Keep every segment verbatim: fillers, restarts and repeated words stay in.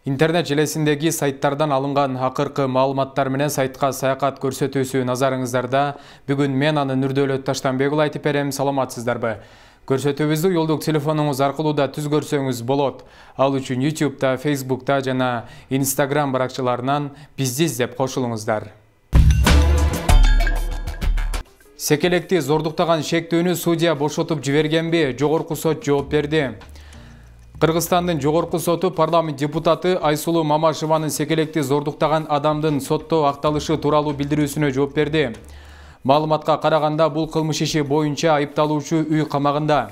Интернет желесиндеги сайттардан алынган акыркы маалыматтар менен сайтка саякат көрсөтүүсү назарыңыздарда. Бүгүн мен аны Нурдөөлөт Таштанбек уулу айтып берем. Саламатсыздарбы? Көрсөтүүбүздү уюлдук телефонуңуз аркылуу да түз көрсөңүз болот. Ал үчүн YouTube'да, Facebook'та жана Instagram баракчаларынан бизди издеп кошулуңуздар. Секелекти зордуктаган шектүүнү судья бошотуп жибергенби? Жогорку сот жооп берди. Кыргызстандын жогорку соту парламент депутаты Айсулуу Мамашеванын секелекти зордуктаган адамдын сотто акталышы тууралуу билдирүүсүнө жооп берди. Маалыматка караганда, бул кылмыш иши боюнча айыпталуучу үй камагында.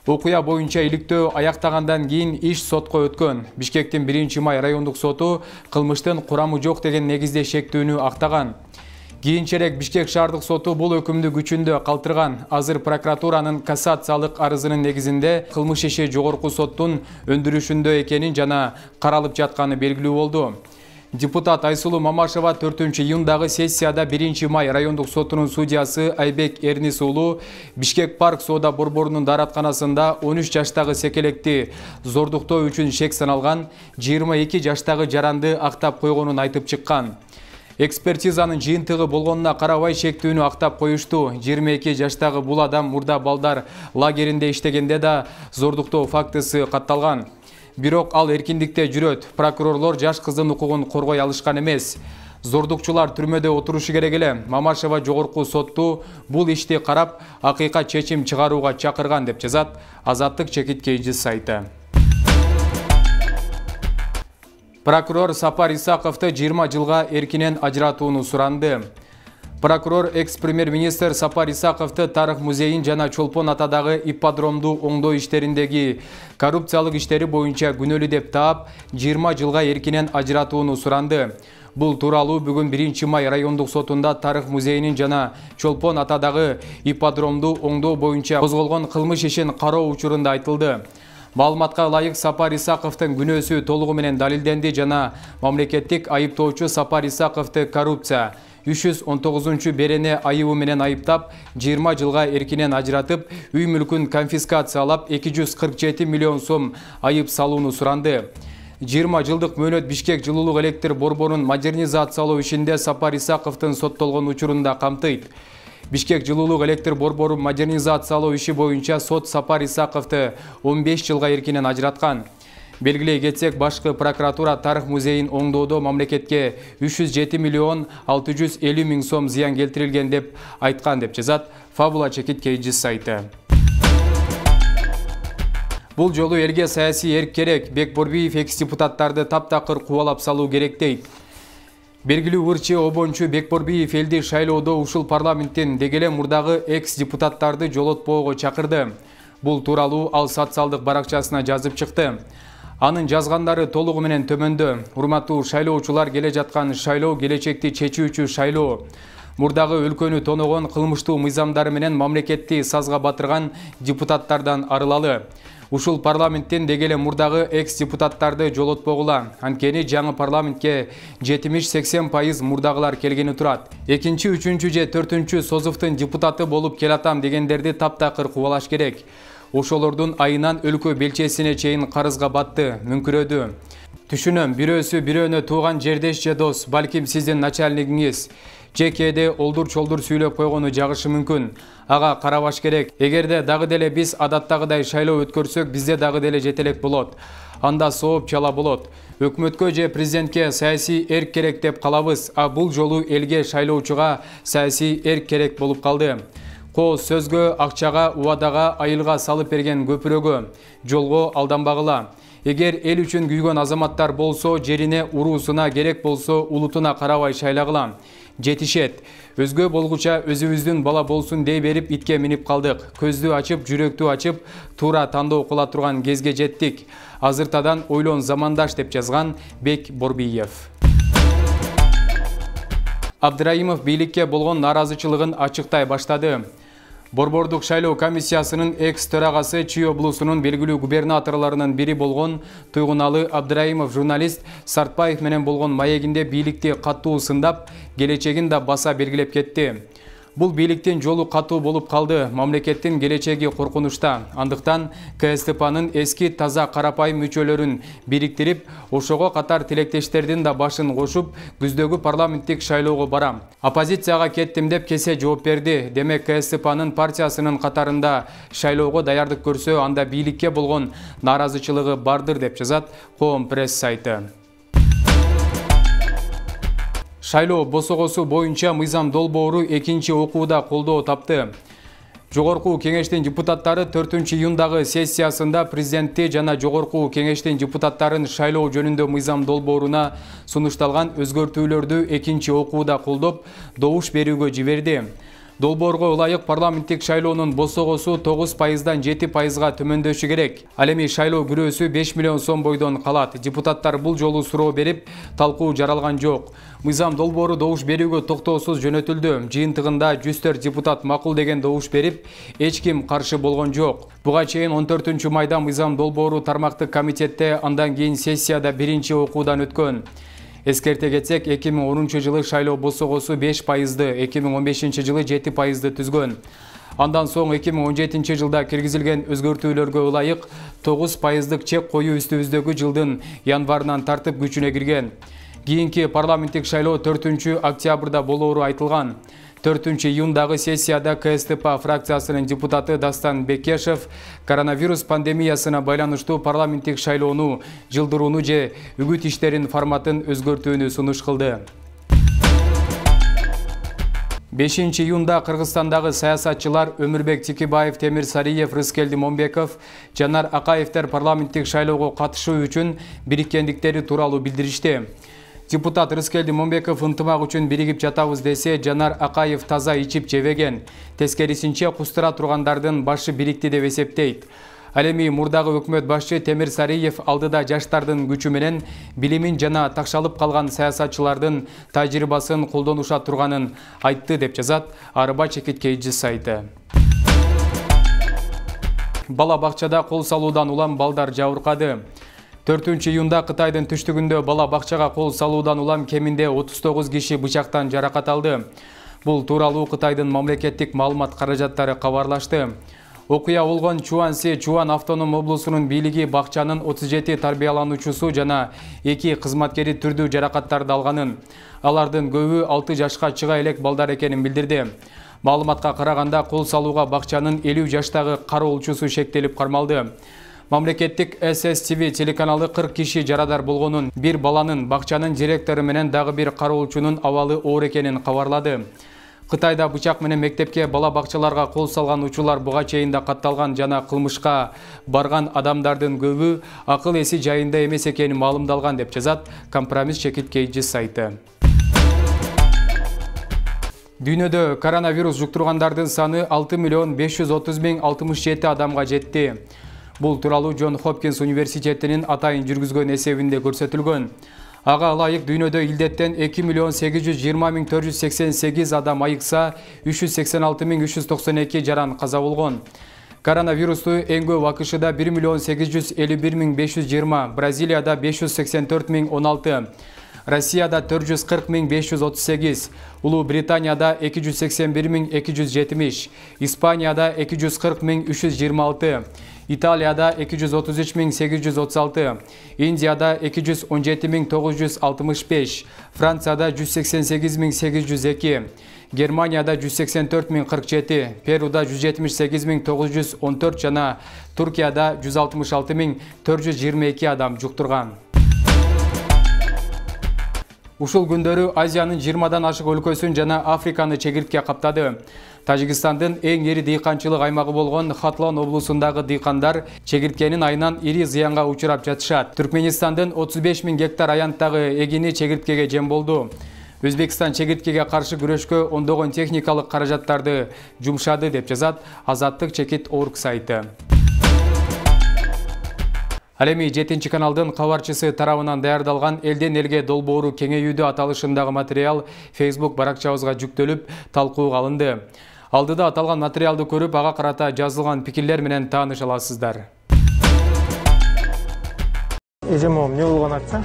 Окуя боюнча иликтөө аяктагандан кийин иш сотко өткөн. Бишкектин биринчи май райондук соту кылмыштын курамы жок деген негизде шектүүнү актаган. Кийинчерээк Бишкек шаардык соту бул өкүмдү күчүндө калтырган. Азыр прокуратуранын кассациялык арызынын негизинде кылмыш иши жогорку соттун өндүрүшүндө экенин жана каралып жатканы белгилүү болду. Депутат Айсулуу Мамашева төртүнчү июндагы сессияда биринчи май райондук сотунун судьясы Айбек Эрнис уулу Бишкек парк соода борборунун дааратканасында он үч жаштагы секелекти зордуктоо үчүн шек саналган жыйырма эки жаштагы жаранды актап койгонун айтып чыккан. Экспертизанын жыйынтыгы болгонуна карабай шектүүнү актап коюшту. жыйырма эки жаштагы бул адам мурда балдар лагеринде иштегенде да зордуктоо фактысы катталган. Бирок ал эркиндикте жүрөт. Прокурорлор жаш кыздын укугун коргой алышкан эмес. Зордукчулар түрмөдө отурушу керек эле. Мамашева жогорку сотту бул ишти карап, акыйкат чечим чыгарууга чакырган деп жазат Азаттык чекит кейжи сайты. Прокурор Сапар Исаковду жыйырма жылга эркинен ажыратууну суранды. Прокурор экс-премьер-министр Сапар Исаковду Тарых музейин жана Чолпон атадагы ипподромду оңдоо иштериндеги коррупциялык иштери боюнча күнөөлүү деп таап, жыйырма жылга эркинен ажыратууну суранды. Бул тууралуу бүгүн биринчи май райондук сотунда Тарых музейинин жана Чолпон атадагы ипподромду оңдоо боюнча козголгон кылмыш ишин кароо учурунда айтылды. Маалыматка ылайык, Сапар Исаковдун күнөөсү толугу менен далилденди жана мамлекеттик айыптоочу Сапар Исаковду коррупция үч жүз он тогузунчу берене айыбы менен айыптап, жыйырма жылга эркинен ажыратып, үй мүлкүн конфискациялап, эки жүз кырк жети миллион сом айып салууну суранды. жыйырма жылдык мөөнөт Бишкек жылуулук электр борборун модернизациялоо ишинде Сапар Исаковдун соттолгон учурунда камтыйт. Бишкек жылуулук электр борборун модернизациялоо иши боюнча сот Сапар Исаковду он беш жылга эркинен ажыраткан. Белгилей кетсек, башкы прокуратура Тарых музейин оңдоодо мамлекетке үч жүз жети миллион алты жүз элүү миң сом зыян келтирилген деп айткан деп жазат Фабула чекит кейжи сайты. Бул жолу элге саясий эрк керек. Бекборбиев экс-депутаттарды таптакыр кубалап салуу керек дейт. Белгилүү ырчы обончу Бекборбиев элди шайлоодо ушул парламенттин дегеле мурдагы экс-депутаттарды жолотпоого чакырды. Бул тууралуу ал социалдык баракчасына жазып чыкты. Анын жазгандары толугу менен төмөндө. Урматтуу шайлоочулар, келе жаткан шайлоо келечекти чечүүчү шайлоо. Мурдагы өлкөнү тоногон кылмыштуу мыйзамдары менен мамлекетти сазга батырган депутаттардан арылалы. Ушул парламенттин дегеле мурдагы экс-депутаттарды жолотпогула. Анткени жаңы парламентке жетимиш сексен пайыз мурдагылар келгени турат. Экинчи, үчүнчү же төртүнчү созуфтун депутаты болуп келатам дегендерди таптакыр кубалаш керек. Ошолордун айынан өлкө белчесине чейин карызга батты, мүңкүрөдү. Түшүнөм, бирөөсү бирөөнө тууган жердеш же дос, балким сиздин начальнигиңиз же кээде олдур-чолдур сүйлөп койгону жагышы мүмкүн. Ага карабаш керек. Эгерде дагы деле биз адаттагыдай шайлоо өткөрсөк, бизде дагы деле жетелек болот. Анда сооп чала болот. Өкмөткө же президентке саясий эрк керек деп калабыз, а бул жолу элге шайлоочуга саясий эрк керек болуп калды. Кооз сөзгө, акчага, убадага, айылга салып берген көпүрөгө, жолго алданбагыла. Эгер эл үчүн күйгөн азаматтар болсо, жерине, уруусуна, керек болсо улутуна карабай шайлагыла. Жетишет. Өзгө болгуча өзүбүздүн бала болсун дей берип итке минип калдык. Көздү ачып, жүрөктү ачып, туура тандоо кыла турган кезге жеттик. Азыртадан ойлон замандаш деп жазган Бекборбиев. Абдыраимов бийликке болгон нааразычылыгын ачыктай баштады. Борбордук шайлоо комиссиясынын экс-төрагасы Чүй облусунун белгилүү губернаторлорунун бири болгон Туйгуналы Абдыраимов журналист Сартбаев менен болгон маегинде бийликти каттуу сындап, келечегин да баса белгилеп кетти. Бул бийликтин жолу катуу болуп калды, мамлекеттин келечеги коркунучта. Андыктан КСТПнын эски таза карапайым мүчөлөрүн бириктирип, ошого катар тилектештердин да башын кошуп, күздөгү парламенттик шайлоого барам. Оппозицияга кеттим деп кесе жооп берди. Демек КСТПнын партиясынын катарында шайлоого даярдык көрсө, анда бийликке болгон нааразычылыгы бардыр деп жазат Коом пресс сайты. Шайлоо босогосу боюнча мыйзам долбоору экинчи окууда колдоо тапты. Жогорку кеңештин депутаттары төртүнчү июндагы сессиясында президентти жана Жогорку кеңештин депутаттарын шайлоо жөнүндө мыйзам долбооруна сунушталган өзгөртүүлөрдү экинчи окууда колдоп, добуш берүүгө жиберди. Долбоорго ылайык парламенттик шайлоонун босогосу тогуз пайыздан жети пайызга төмөндөшү керек. Ал эми шайлоо күрөөсү беш миллион сом бойдон калат. Депутаттар бул жолу суроо берип, талкуу жаралган жок. Мыйзам долбоору добуш берүүгө токтоосуз жөнөтүлдү. Жыйынтыгында жүз төрт депутат макул деген добуш берип, эч ким каршы болгон жок. Буга чейин он төртүнчү майда мыйзам долбоору тармактык комитетте, андан кийин сессияда биринчи окуудан өткөн. Эскерте кетсек, эки миң онунчу жылы шайлоо босогосу беш пайызды, эки миң он бешинчи жылы жети пайызды түзгөн. Андан соң эки миң он жетинчи жылда киргизилген өзгөртүүлөргө ылайык тогуз пайыздык чек коюу үстүбүздөгү жылдын январынан тартып күчүнө кирген. Кийинки парламенттик шайлоо төртүнчү октябрда болоору айтылган. төртүнчү июндагы сессияда КСТП фракциясынын депутаты Дастан Бекешев коронавирус пандемиясына байланыштуу парламенттик шайлоону жылдырууну же үгүт иштерин форматын өзгөртүүнү сунуш кылды. бешинчи июнда Кыргызстандагы саясатчылар Өмүрбек Тикибаев, Темир Сариев, Рыскелди Момбеков, Жанар Акаевтер парламенттик шайлоого катышуу үчүн бириккендиктери тууралуу билдиришти. Депутат Рыскелди Момбеков ынтымак үчүн биригип жатабыз десе, Жанар Акаев таза ичип жебеген. Тескерисинче кустура тургандардын башы бирикти деп эсептейт. Ал эми мурдагы өкмөт башчы Темир Сариев алдыда жаштардын күчү менен билимин жана такшалып калган саясатчылардын тажрыйбасын колдонуша турганын айтты деп жазат Арыба Чекиткейджи сайты. Бала бакчада кол салуудан улам балдар жабыркады. төртүнчү июнда Кытайдын түштүгүндө бала бакчага кол салуудан улам кеминде отуз тогуз киши бычактан жаракат алды. Бул тууралуу Кытайдын мамлекеттик маалымат каражаттары кабарлашты. Окуя болгон Чуанси Чуан автоном облусунун бийлиги бакчанын отуз жети тарбиялануучусу жана эки кызматкери түрдүү жаракаттарды алганын, алардын көбү алты жашка чыга элек балдар экенин билдирди. Маалыматка караганда кол салууга бакчанын элүү жаштагы кароолчусу шектелип кармалды. Мамлекеттик эс эс ти ви телеканалы кырк киши жарадар болгонун, бир баланын, бакчанын директору менен дагы бир кароолчунун абалы оор экенин кабарлады. Кытайда бычак менен мектепке бала бакчаларга кол салган учурлар буга чейин да катталган жана кылмышка барган адамдардын көбү акыл эси жайында эмес экени маалымдалган деп жазат Компромисс Чекиткейджи сайты. Дүйнөдө коронавирус жуктургандардын саны алты миллион беш жүз отуз миң алтымыш жети адамга жетти. Бул тууралуу Джон Хопкинс университетинин атайын жүргүзгөн эсебинде көрсөтүлгөн. Ага ылайык дүйнөдө илдеттен эки миллион сегиз жүз жыйырма миң төрт жүз сексен сегиз адам айыкса, үч жүз сексен алты миң үч жүз токсон эки жаран каза болгон. Коронавирусту эң көп АКШда бир миллион сегиз жүз элүү бир миң беш жүз жыйырма, Бразилияда беш жүз сексен төрт миң он алты, Россияда төрт жүз кырк миң беш жүз отуз сегиз, Улуу Британияда эки жүз сексен бир миң эки жүз жетимиш, Испанияда эки жүз кырк миң үч жүз жыйырма алты, Италияда эки жүз отуз үч миң сегиз жүз отуз алты, Индияда эки жүз он жети миң тогуз жүз алтымыш беш, Францияда жүз сексен сегиз миң сегиз жүз эки, Германияда жүз сексен төрт миң кырк жети, Перуда жүз жетимиш сегиз миң тогуз жүз он төрт жана Туркияда жүз алтымыш алты миң төрт жүз жыйырма эки адам жуктурган. Ушул күндөрү Азиянын жыйырмадан ашык өлкөсүн жана Африканы чегиртке каптады. Тажикстандын эң эри дыйканчылык аймагы болгон Хатлон облусундагы дыйкандар чегирткенин айынан ири зыянга учурап жатышат. Түркменистандын отуз беш миң гектар аянттагы эгини чегирткеге жем болду. Өзбекстан чегирткеге каршы күрөшкө ондогон техникалык каражаттарды жумшады деп жазат Азаттык чекит точка орг сайты. Ал эми жетинчи каналдын кабарчысы тарабынан даярдалган элден элге долбоору кеңейүүдө аталышындагы материал Facebook баракчабызга жүктөлүп, талкууга алынды. Алдыда аталган материалды көрүп, ага карата жазылган пикирлер менен тааныша аласыздар. Эжем, эмне болгон акча?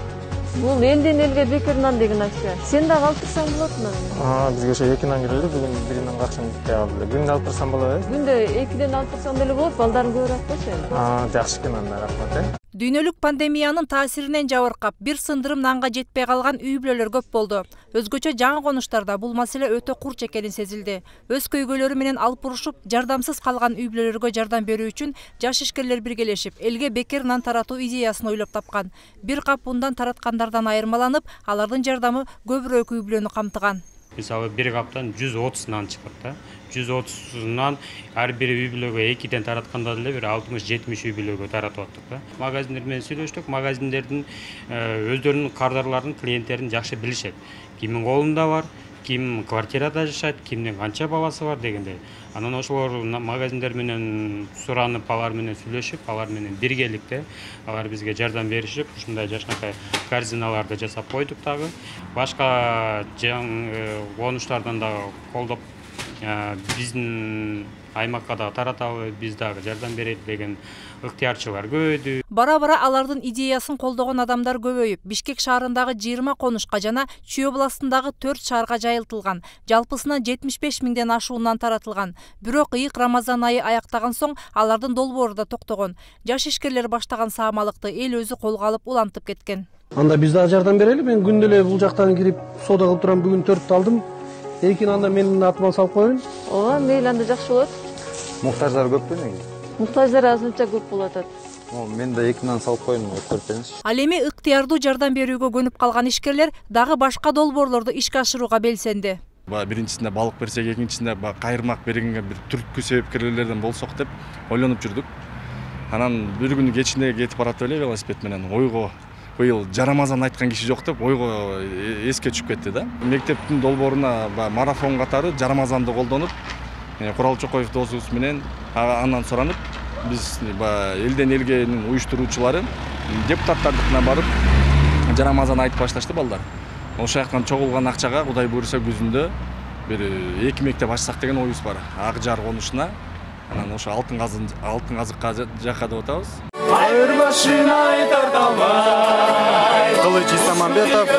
Бул элден элге бекер нан деген акча. Сен дагы алып турсаң болот мына. А, бизге ошо эки нан келди, бүгүн бир нан каршым кетти алды. Күндө алып турсам болот, э? Күндө экиден алып турсаң деле болот, балдарың көбүрөөк болсо эми. А, жакшы экен анда, рахмат, э. Дүйнөлүк пандемиянын таасиринен жабыркап, бир сындырым нанга жетпей калган үй бүлөлөр көп болду. Өзгөчө жаңы конуштарда бул маселе өтө курч экени сезилди. Өз көйгөйлөрү менен алып урушуп, жардамсыз калган үй бүлөлөргө жардам берүү үчүн жаш ишкерлер биргелешип, элге бекер нан таратуу идеясын ойлоп тапкан. Бир кап ундан тараткандардан айырмаланып, алардын жардамы көбүрөөк үй бүлөнү камтыган. Мисалы бир каптан жүз отуз нан чыгат да. жүз отузунан ар бир үй бүлөгө экиден таратканда деле бир алтымыш жетимиш үй бүлөгө таратып аттык да. Магазиндер менен сүйлөштүк. Магазиндердин өздөрүнүн кардарларын, клиенттерин жакшы билишет. Кимдин колунда бар, ким квартирада жашайт, кимдин канча баласы бар дегендей. Анан ошолор магазиндер менен суранып, алар менен сүйлөшүп, алар менен биргеликте алар бизге жардам беришип, ушундай жашнакай корзиналарды жасап койдук дагы. Башка конуштардан дагы колдоп биздин аймакка да таратабы, биз дагы жардам берели деген ыктыярчылар көбөйдү. Бара-бара алардын идеясын колдогон адамдар көбөйүп, Бишкек шаарындагы жыйырма конушка жана Чүй областындагы төрт шаарга жайылтылган. Жалпысынан жетимиш беш миңден ашуунан таратылган. Бирок ыйык Рамазан айы аяктаган соң алардын долбоору да токтогон. Жаш ишкерлер баштаган саамалыкты эл өзү колго алып улантып кеткен. Анда биз дагы жардам берели. Мен күндө эле бул жактан кирип соода кылып турам. Бүгүн төрттү алдым. Экини анда менин атыма салып коеюн. Ооба, мейли, анда жакшы болот. Муктаждар көппү неге? Муктаждар азырынча көп болуп атат. Мен да эки нан салып коеюн, көрсөңүз. Ал эми ыктыярдуу жардам берүүгө көнүп калган ишкерлер дагы башка долбоорлорду ишке ашырууга белсенди. Биринчисинде балык берсек, экинчисинде кайырмак бергенге бир түрткү себепкерлерден болсок деп ойлонуп жүрдүк. Анан бир күнү кечинде кетип баратып эле велосипед менен ойго быйыл жарамазан айткан киши жок деп ойго эске түшүп кетти да. Мектептин долбооруна марафон катары жарамазанды колдонуп, Курал Чокоев досубуз менен андан суранып, биз элден элгенин уюштуруучулары депутаттардыкына барып жарамазан айтып башташты балдар. Ошол жактан чогулган акчага Кудай буйруса күзүндө бир эки мектеп ачсак деген оюбуз бар. Ак Жар конушуна, анан ошо алтын казын алтын казыкка жакка деп атабыз. Айыр башына айтар талбай, Кылыч Исамамбетов.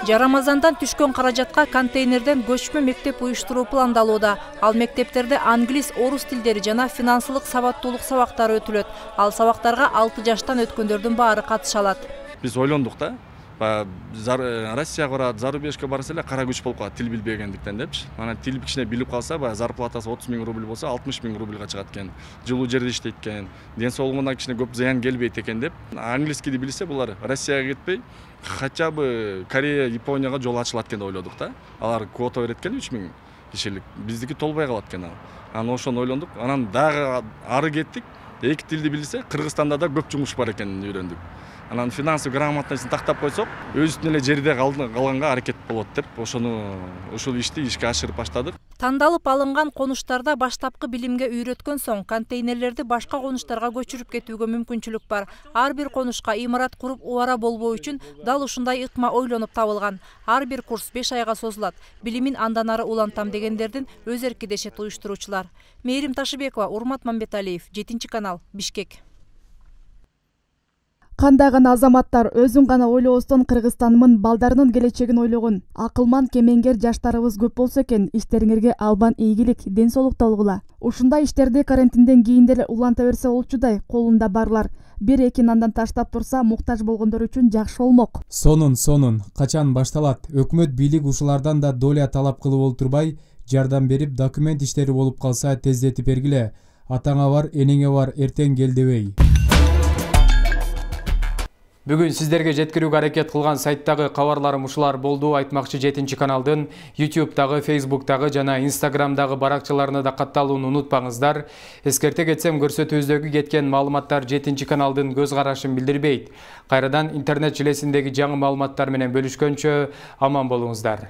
Жарамазандан түшкөн каражатка контейнерден көчмө мектеп уюштуруу пландалууда. Ал мектептерде англис, орус тилдери жана финансылык сабаттуулук сабактары өтүлөт. Ал сабактарга алты жаштан өткөндөрдүн баары катыша алат. Биз ойлондук да. Россияга барат, зарубежге барса эле кара күч болуп калат тил билбегендиктен депчи. Анан тил кичине билип калса, баягы зарплатасы отуз миң рубль болсо, алтымыш миң рубльга чыгат экен. Жылуу жерде иштейт экен. Ден соолугуна кичине көп зыян келбейт экен деп. Английскийди билсе, булар Россияга кетпей, хотя бы Корея, Японияга жол ачылат экен деп ойлодук да. Алар квота берет экен үч миң кишилик. Биздики толбой калат экен ал. Анан ошону ойлондук. Анан дагы ары кеттик. Эки тилди билсе, Кыргызстанда да көп жумуш бар экенин үйрөндүк. Анан финансовый грамотностун тактап койсок, өзүнүн эле жерде калганга аракет болот деп, ошону ушул ишти ишке ашырып баштадык. Тандалып алынган конуштарда баштапкы билимге үйрөткөн соң контейнерлерди башка конуштарга көчүрүп кетүүгө мүмкүнчүлүк бар. Ар бир конушка имарат куруп убара болбоо үчүн дал ушундай ыкма ойлонуп табылган. Ар бир курс беш айга созулат. Билимин андан ары улантам дегендердин өз эрки дешет уюштуруучулар. Мээрим Ташыбекова, Урмат Мамбеталиев, жетинчи канал, Бишкек. Кандай гана азаматтар өзүн гана ойлобостон Кыргызстандын балдарынын келечегин ойлогон акылман кемеңгер жаштарыбыз көп болсо экен, иштериңерге албан ийгилик, ден соолук толгула. Ушундай иштерди карантинден кийин деле уланта берсе болчудай, колунда барлар бир-эки нандан таштап турса, муктаж болгондор үчүн жакшы болмок. Сонун, сонун, качан башталат? Өкмөт бийлик ушулардан да доля талап кылып олтурбай, жардам берип, документ иштери болуп калса тездетип бергиле. Атаңа бар, энеңе бар, эртең кел дебей. Бүгүн сиздерге жеткирүүгө аракет кылган сайттагы кабарларым ушулар болду. Айтмакчы жетинчи каналдын ютубтагы, фейсбуктагы жана инстаграмдагы баракчаларына да катталууну унутпаңыздар. Эскерте кетсем, көрсөтүүбүздөгү кеткен маалыматтар жетинчи каналдын көз карашын билдирбейт. Кайрадан интернет желесиндеги жаңы маалыматтар менен бөлүшкөнчө аман болуңуздар.